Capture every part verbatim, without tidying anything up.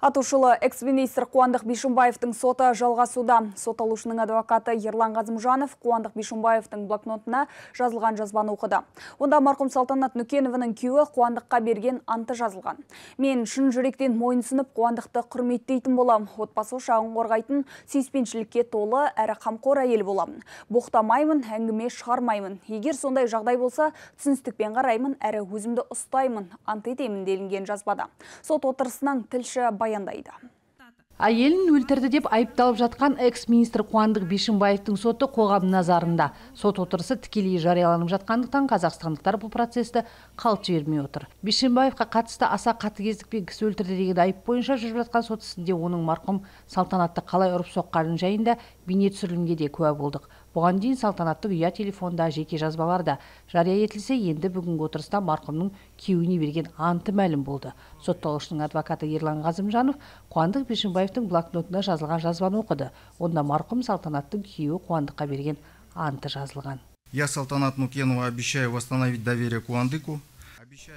Атышулы экс-министр Қуандық Бишімбаевтың соты жалғасуда. Сотталушының адвокаты Ерлан Ғазымжанов Қуандық Бишімбаевтың блокнотына жазылған жазбаны оқыды. Онда марқұм Салтанат Нүкеновының күйеуі Қуандыққа берген анты жазылған. Мен шын жүректен мойынсынып Қуандықты құрметтейтін болам. Отбасы ошағын қорғайтын, сүйіспеншілікке толы әрі қамқор әйел боламын. Боқтамаймын, әңгіме шығармаймын. Егер сондай жағдай болса, түсіністікпен қараймын, әрі өзімді ұстаймын, ант етемін делінген жазбада. Сот отырысынан тілші баяндайды. Әйелін өлтірді деп айыпталып жатқан экс-министр Қуандық Бишімбаевтың соты қоғам назарында. Сот отырысы тікелей жарияланып жатқандықтан қазақстандықтар бұл процесті қалт жібермей отыр. Бишімбаевқа қатысты аса қатыгездікпен кісі өлтірді деген айып бойынша жүріп жатқан сот ісінде оның марқұм Салтанатты қалай ұрып соққанын жайында бейне түсірілімге де куә болдық. Бұған дейін Салтанатты ұя телефонда, жеке жазбаларда жария етілсе, енді бүгінгі отырыста марқұмның күйеуіне берген анты мәлім болды. Сотталушының адвокаты Ерлан Ғазымжанов Қуандық Бишімбаевтың блокнотына жазылған жазбаны оқыды. Онда марқұм Салтанаттың күйеуі Қуандыққа берген анты жазылған. Я, Салтанат Нүкенова, обещаю восстановить доверие Қуандыку.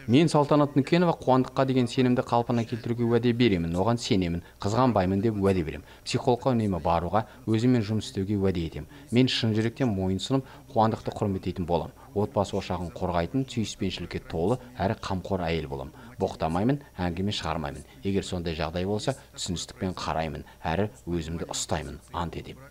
Мен Салтанат Нүкенова Қуандыққа деген сенімді қалпына келтіруге уәде беремін, оған сенемін, қызғанбаймын деп уәде беремін. Психологқа үнемі баруға, өзімен жұмыс істеуге уәде етемін. Мен шын жүректен мойынсынып, Қуандықты құрметтейтін болам. Отбасы ошағын қорғайтын, сүйіспеншілікке толы әрі қамқор әйел болам. Боқтамаймын, әңгіме шығармаймын. Егер сондай жағдай болса, түсіністікпен қараймын, әрі өзімді ұстаймын, ант етемін.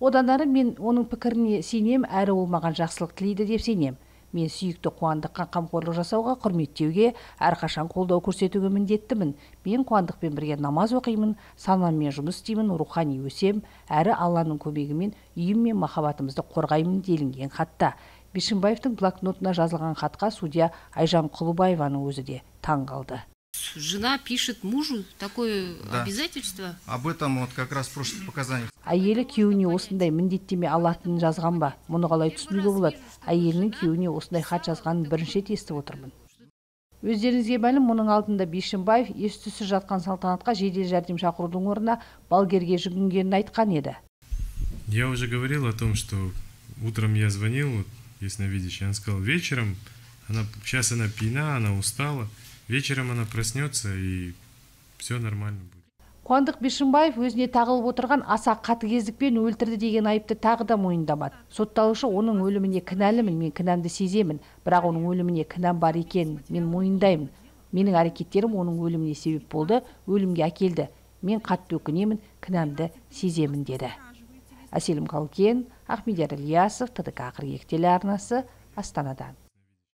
Одан әрі мен оның пікіріне сенем, әрі ол маған жақсылық тілейді деп сенем. Мен сүйікті Қуандыққа қамқорлық жасауға, құрметтеуге, әрқашан қолдау көрсетуге міндеттімін. Мен Қуандықпен бірге намаз оқимын, санаммен жұмыс істеймін, рухани өсем, әрі Алланың көмегімен үйім мен махаббатымызды қорғаймын делінген хатта. Бишімбаевтың блокнотына жазылған хатқа судья Айжан Құлыбаеваның өзі де таң қалды. Жена пишет мужу такое да. Обязательство. Об этом вот как раз в прошлых показаниях. Әйелі күйеуіне осындай міндеттеме алатынын жазған ба? Мұны қалай түсінуге болады? Әйелінің күйеуіне осындай хат жазғанын бірінші рет естіп отырмын. Өздеріңізге мәлім, мұның алдында Бишімбаев ес-түссіз жатқан Салтанатқа жедел жәрдем шақырудың орнына балгерге жүгінгенін айтқан еді. Я уже говорил о том, что утром я звонил, ясновидящий, он сказал, вечером, она, сейчас она пьяна, она устала. Вечером она проснется и все нормально будет. Қуандық Бишімбаев өзіне тағылып отырған аса қатыгездікпен өлтірді деген айыпты тағы да мойындамады. Сотталушы оның өліміне кінәлімін, мен кінәмді сеземін, бірақ оның өліміне кінәм бар екенін мен мойындаймын. Менің әрекеттерім оның өліміне себеп болды, өлімге әкелді. Мен қатты өкінемін, кінәмді сеземін деді. Әселім Қалкен, Ахмедияр Ильясов, Т Д К қырық екі телеарнасы, Астанадан.